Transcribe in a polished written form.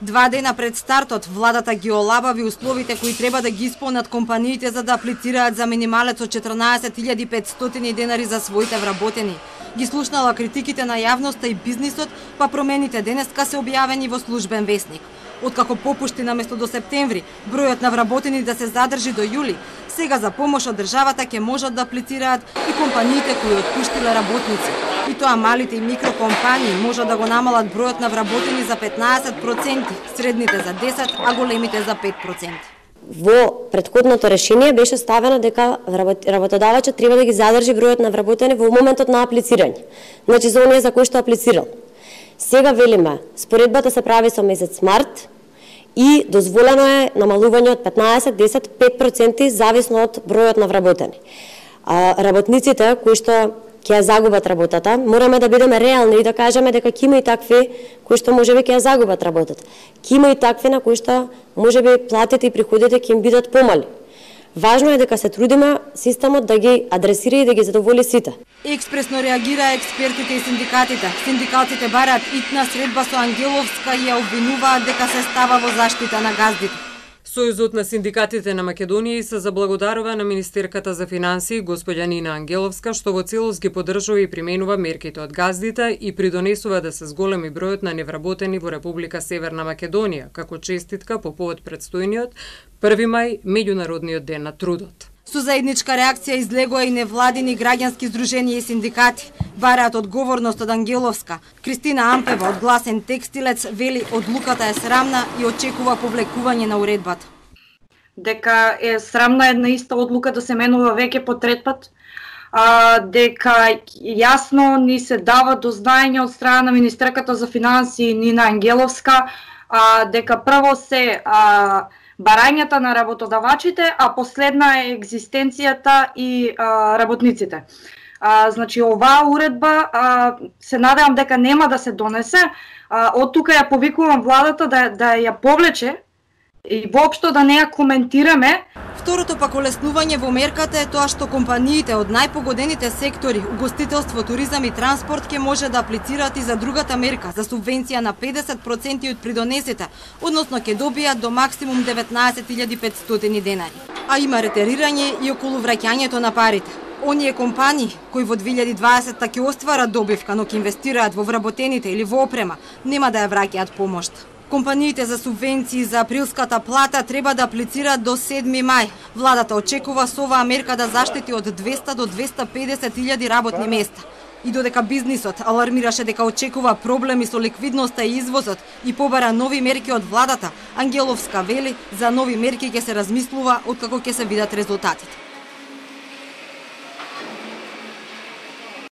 2 дена пред стартот, владата ги олабави условите кои треба да ги исполнат компаниите за да аплицираат за минималец од 14.500 денари за своите вработени. Ги слушнала критиките на јавноста и бизнисот, па промените денеска се објавени во службен весник. Откако попушти наместо до септември, бројот на вработени да се задржи до јули, сега за помош од државата ќе можат да аплицираат и компаниите кои отпуштиле работници. И тоа малите и микрокомпании можат да го намалат бројот на вработени за 15%, средните за 10%, а големите за 5%. Во претходното решение беше ставено дека работодавачот треба да ги задржи бројот на вработени во моментот на аплицирање. Значи за оние за кои што аплицирал. Сега велиме, споредбата се прави со месец март и дозволено е намалување од 15, 10, 5% зависно од бројот на вработени. Работниците кои што ќе ја загубат работата, мораме да бидеме реални и да кажеме дека ќе има и такви кои што можеби ќе ја загубат работата. Ќе има и такви на кои што можеби платите и приходите ќе им бидат помали. Важно е дека се трудиме системот да ги адресира и да ги задоволи сите. Експресно реагираа експертите и синдикатите. Синдикатите бараат итна средба со Ангеловска и ја обвинуваат дека се става во заштита на газдите. Сојузот на синдикатите на Македонија се заблагодарува на министерката за финансии госпоѓа Нина Ангеловска што во целост ги поддржува и применува мерките од газдите и придонесува да се зголеми бројот на невработени во Република Северна Македонија, како честитка по повод предстојниот 1 мај меѓународниот ден на трудот. Со заедничка реакција излегоа и невладини граѓански здруженија и синдикати. Бараат одговорност од Ангеловска. Кристина Ампева од Гласен текстилец вели одлуката е срамна и очекува повлекување на уредбата. Дека е срамна една иста одлука да се менува веќе по трет пат, дека јасно ни се дава до знаење од страна на министерката за финансии Нина Ангеловска, дека прво се барањата на работодавачите, а последна е екзистенцијата и работниците. Значи, оваа уредба се надевам дека нема да се донесе. Од тука ја повикувам владата да ја повлече и воопшто да не ја коментираме. Второто пак олеснување во мерката е тоа што компаниите од најпогодените сектори, угостителство, туризам и транспорт ќе може да аплицираат и за другата мерка, за субвенција на 50% од придонесите, односно ќе добијат до максимум 19.500 денари. А има ретерирање и околу враќањето на парите. Оние компании кои во 2020 ќе остварат добивка, но ќе инвестираат во вработените или во опрема, нема да ја враќаат помошта. Компаниите за субвенции за априлската плата треба да аплицираат до 7 мај. Владата очекува со оваа мерка да заштити од 200 до 250.000 работни места. И додека бизнисот алармираше дека очекува проблеми со ликвидноста и извозот и побара нови мерки од владата, Ангеловска вели за нови мерки ќе се размислува откако ќе се видат резултатите.